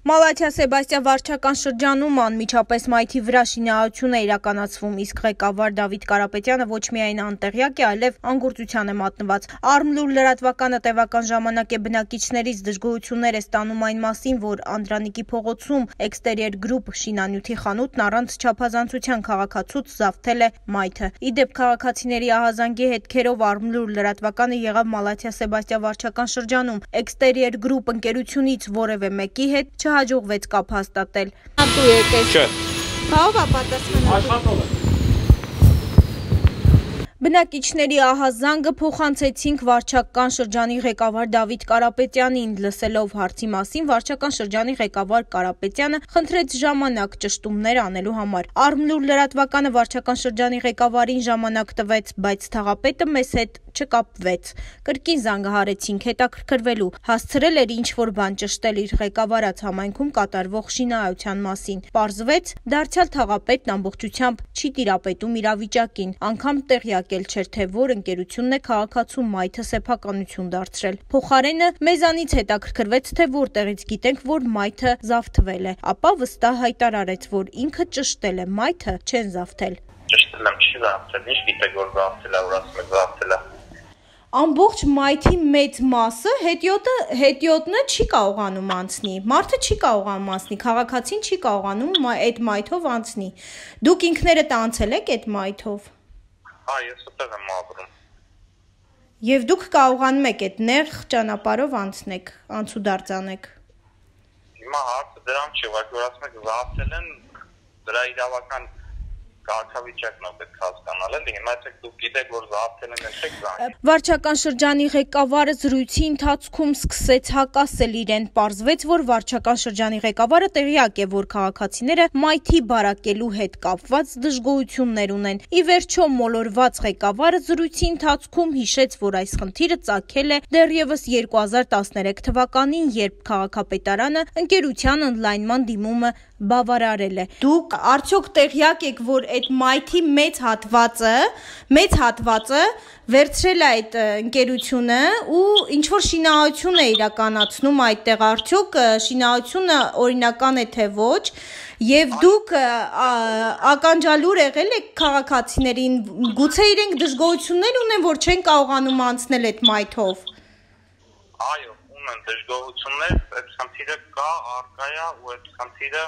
Մալաթիա Սեբաստիա վարչական շրջանում անմիջապես մայթի վրա շինարարություն է իրականացվում, իսկ ղեկավար Դավիթ Կարապետյանը ոչ միայն անտեղյակ է, այլև անգործության է մատնված։ Արմլուր լրատվականը տևական ժամանակ է բնակիչներից դժգոհություններ է ստանում այն մասին, որ Անդրանիկի փողոցում Exterior Group շինանյութի խանութն առանց չափազանցության քաղաքացուց զավթել է մայթը։ Ի դեպ քաղաքացիների ահազանգի հետքերով Արմլուր լրատվականը եղավ Մալաթիա Սեբաստիա վարչական շրջանում։ Exterior Group ընկերությունից որևէ մեկի հետ չհաջողվեց կապ հաստատել։ Ատու եկես։ Չէ։ Ո՞վ է պատասխանատու։ Աշխատողը։ Բնակիչների ահազանգը փոխանցեցինք վարչական շրջանի ղեկավար Դավիթ Կարապետյանին, լսելով հարցի մասին վարչական շրջանի ղեկավար Կարապետյանը խնդրեց ժամանակ ճշտումներ անելու համար։ Արմլուր լրատվականը վարչական շրջանի ղեկավարին ժամանակ տվեց, բայց թաղապետը մեզ հետ չկապվեց։ Կրկին զանգահարեցինք հետաքրքրվելու, հասցրել էր ինչ-որ բան ճշտել իր ղեկավարած համայնքում կատարվող շինարարության մասին։ Պարզվեց, դարձյալ թաղապետն ամբողջությամբ չի տիրապետում իրավիճակին, անգամ տեղյակ էլ չէր, թե որ ընկերությունն է քաղաքացու մայթը սեփականություն դարձրել։ Փոխարենը մեզանից հետաքրքրվեց, թե որտեղից գիտենք, որ մայթը զավթվել է, ապա վստահ հայտարարեց, որ ինքը ճշտել է, մայթը չեն զավթել։ Ճշտել եմ, չի զավթել, ինչ գիտեք, որ զավթել է, որ ասում եք զավթել է։ Ամբողջ մայթի մեծ մասը հետիոտնը չի կարողանում անցնի, մարդը չի կարողանում անցնի, քաղաքացին չի կարողանում այդ մայթով անցնի։ Դուք ինքներդ անցել եք այդ մայթով։ Ես ուտեղ եմ ապրում։ Եվ դուք կարողանում եք այդ նեղ ճանապարհով անցնեք, անցուդարձ անեք։ Հիմա հարցը դրան չի, որ ասում եք զավթել են, դրա իրավական քաղաքավիճակն է պետք հասկանալ, էլի հիմա եթե դուք գիտեք, որ զավթել են, չեք զանգել։ Վարչական շրջանի ղեկավարը զրույցի ընթացքում սկսեց հակասել իրեն, պարզվեց, որ վարչական շրջանի ղեկավարը տեղյակ է, որ քաղաքացիները մայթի բարակելու հետ կապված դժգոհություններ ունեն։ Ի վերջո մոլորված ղեկավարը զրույցի ընթացքում հիշեց, որ այս խնդիրը ծագել է դեռևս 2013 թվականին, երբ քաղաքապետարանը ընկերության ընդլայնման դիմումը բավարարել է։ Դուք արդյոք տեղյակ եք, որ այդ մայթի մեծ հատվածը վերցրել է այդ ընկերությունը ու ինչ-որ շինարարություն է իրականացնում այդտեղ, արդյոք շինարարությունը օրինական է թե ոչ, եւ դուք ականջալուր եղել եք քաղաքացիներին, գուցե իրենք դժգոհություններ ունեն, որ չեն կարողանում անցնել այդ մայթով։ Այո, ունեն դժգոհություններ, այդ խնդիրը կա, առկա է ու այդ խնդիրը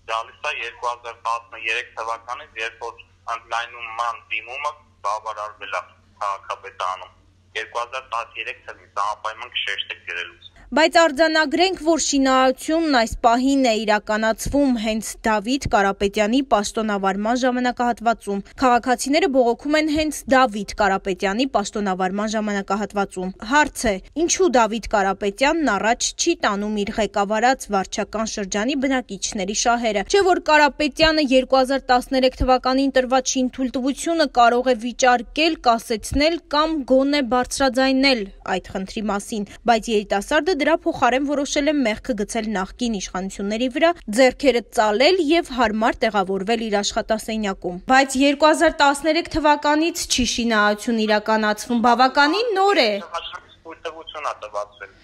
գալիս է 2013 թվականից, երբ որ ընդլայնման դիմումը բավարարվել է քաղաքապետարանում 2013 թվականից համապայման կշեշտեք գրելուց։ Բայց արձանագրենք, որ շինարարությունն այս պահին է իրականացվում հենց Դավիթ Կարապետյանի պաշտոնավարման ժամանակահատվածում։ Քաղաքացիները բողոքում են հենց Դավիթ Կարապետյանի պաշտոնավարման ժամանակահատվածում։ Հարց է, ինչու Դավիթ Կարապետյանն առաջ չի տանում իր ղեկավարած վարչական շրջանի բնակիչների շահերը։ Չէ՞ որ Կարապետյանը 2013 թվականին տրված շինթույլտվությունը կարող է վիճարկել, կասեցնել կամ գոնե բարձրաձայնել այդ խնդրի մասին, բայց երիտասարդը դրա փոխարեն որոշել է մեղքը գցել նախկին իշխանությունների վրա, ձեռքերը ծալել եւ հարմար տեղավորվել իր աշխատասենյակում։ Բայց 2013 թվականից չի շինարարություն իրականացվում, բավականին նոր է։ Թույլտվություն է տվածվել։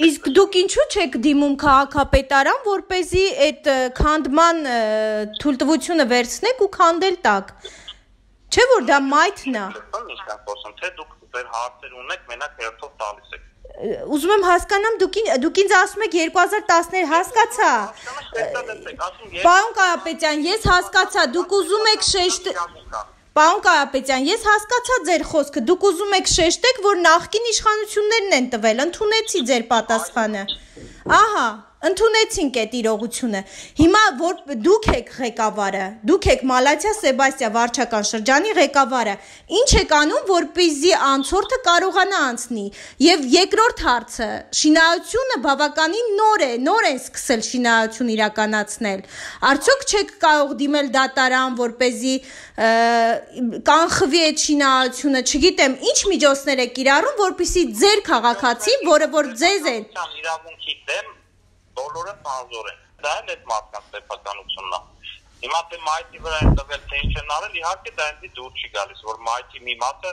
Իսկ դուք ինչու չեք դիմում քաղաքապետարան, որպեսզի այդ քանդման թույլտվությունը վերցնեք ու քանդել տակ։ Չէ՞ որ դա մայթն է։ Թե դուք ձեր հարցեր ունեք, մենակ հերթով տալիս եք։ Ուզում եմ հասկանամ, դուք ինձ ասում եք 2013, հասկացա։ Պարոն Կարապետյան, ես հասկացա, դուք ուզում եք Պարոն Կարապետյան, ես հասկացա ձեր խոսքը, դուք ուզում եք շեշտեք, որ նախկին իշխանություններն են տվել, ընդունեցի ձեր պատասխանը։ Ահա, ընդունեցինք այդ իրողությունը։ Հիմա որ դուք եք ղեկավարը, դուք եք Մալաթիա Սեբաստիա վարչական շրջանի ղեկավարը, ինչ եք անում, որպեսզի անցորդը կարողանա անցնի։ Եվ երկրորդ հարցը, շինարարությունը բավականին նոր են սկսել շինարարություն իրականացնել։ Արդյոք չեք կարող դիմել դատարան, որպեսզի կանխվի այդ շինարարությունը, չգիտեմ, ինչ միջոցներ եք կիրառում, որպեսզի ձեր քաղաքացին, որը որ ձեզ են իրավունքի դեմ բոլորը բանձոր են։ Դա էլ այդ մարդկանց սեփականությունն է։ Հիմա թե մայթի վրա են տվել, թե ինչ են արել, իհարկե դա ինձ դուր չի գալիս, որ մայթի մի մասը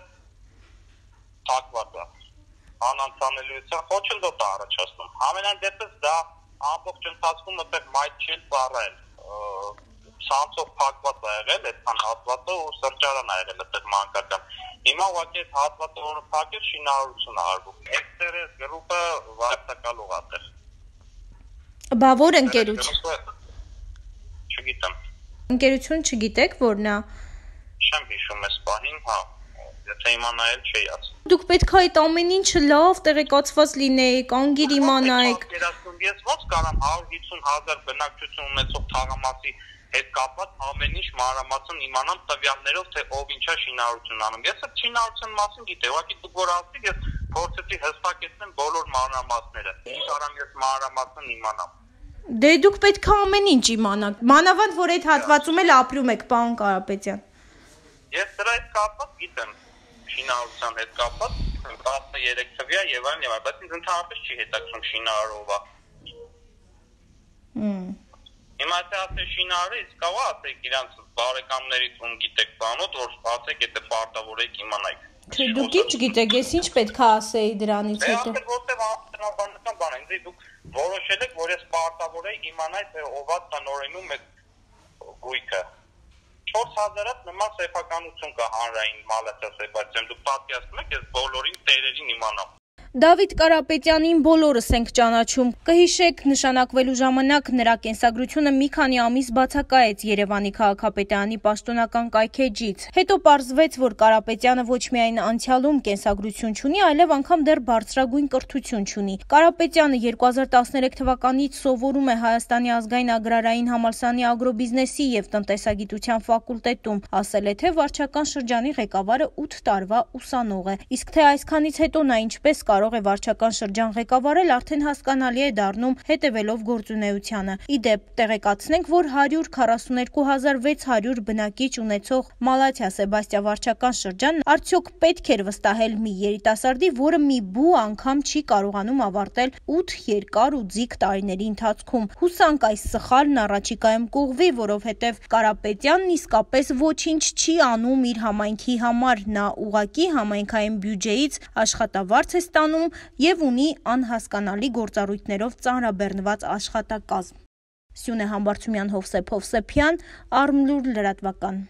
թակված է։ Անանցանելիության խոչընդոտ է առաջացնում։ Ամենայն դեպս դա ամբողջ ընթացքում այդտեղ մայթ չի ծառայել։ Ցանցով փակված ա եղել այդքան հատվածը ու սրճարան ա եղել այդտեղ մանկական։ Հիմա ուղղակի այդ հատվածը որը փակել շինարարություն ա արվում։ Էքստերես գրուպը վարձակալող ա այդտեղ։ Բա որ ընկերություն։ Չգիտեմ։ Ընկերություն չգիտեք որն է։ Չեմ հիշում այս պահին, հա։ Եթե իմանայել չի ասում։ Դուք պետք է այդ ամեն ինչը լավ տեղեկացված լինեիք, անգիր իմանայիք։ Ես ոնց կարամ 150,000 բնակչություն ունեցող թաղամասի հետ կապված ամեն ինչ մանրամասն իմանամ տվյալներով, թե ով ինչա շինարարություն անում։ Ես այդ շինարարության մասին գիտեի, ուղղակի դուք որ ասեք, ես փորձեցի հստակեցնել բոլոր մանրամասները։ Ինչ արամ ես մանրամասն իմանամ։ Դե դուք պետք է ամեն ինչ իմանաք։ Մանավանդ որ այդ հատվածում էլ ապրում եք, պարոն Կարապետյան։ Ես դրա հետ կապված գիտեմ, շինարարության հետ կապված 13 թվյա եւ այլն, բայց ինձ ընդհանրապես չի հետաքրքրում շինարարովը։ Հիմա թե ասել շինարարը, իսկ կարող ասեք իրանց բարեկամներից ում գիտեք բանոց, որ ասեք եթե պարտավորեք իմանայք։ Չէ, դուք ինչ գիտեք, ես ինչ պետք է ասեի դրանից հետո։ Դե որտեղ անձնական բան է, ինձ դուք որոշել եք, որ ես պարտավոր եմ իմանալ, թե ով է տնօրենում այդ գույքը։ 4000-ից նման սեփականություն կա հանրային մալացասեփացիան, դուք պատկերացնում եք, ես բոլորին տերերին իմանամ։ Դավիթ Կարապետյանին բոլորս ենք ճանաչում։ Կհիշեք, նշանակվելու ժամանակ նրա կենսագրությունը մի քանի ամիս բացակայեց Երևանի քաղաքապետարանի պաշտոնական կայքէջից։ Հետո պարզվեց, որ Կարապետյանը ոչ միայն անցյալում կենսագրություն չունի, այլև անգամ դեռ բարձրագույն կրթություն չունի։ Կարապետյանը 2013 թվականից սովորում է Հայաստանի ազգային agrarային համալսարանի ագրոբիզնեսի և տնտեսագիտության ֆակուլտետում, ասել է, թե վարչական շրջանի ղեկավարը 8 տարվա ուսանող է։ Իսկ թե այսքանից հետո նա ինչպես կարող է վարչական շրջան ղեկավարել, արդեն հասկանալի է դառնում հետևելով գործունեությանը։ Ի դեպ, տեղեկացնենք, որ 142,600 բնակիչ ունեցող Մալաթիա Սեբաստիա վարչական շրջանն արդյոք պետք էր վստահել մի երիտասարդի, որը մի բու անգամ չի կարողանում ավարտել 8 երկար ու ձիգ տարիների ընթացքում։ Հուսանք այս սխալն առաջիկայում կուղղվի, որովհետև Կարապետյանն իսկապես ոչինչ չի անում իր համայնքի համար, նա ուղղակի համայնքային բյուջեից աշխատավարձ է ստանում և ունի անհասկանալի գործառույթներով ծանրաբեռնված աշխատակազմ։ Սյունե Համբարձումյան, Հովսեփ Հովսեփյան, Արմլուր լրատվական։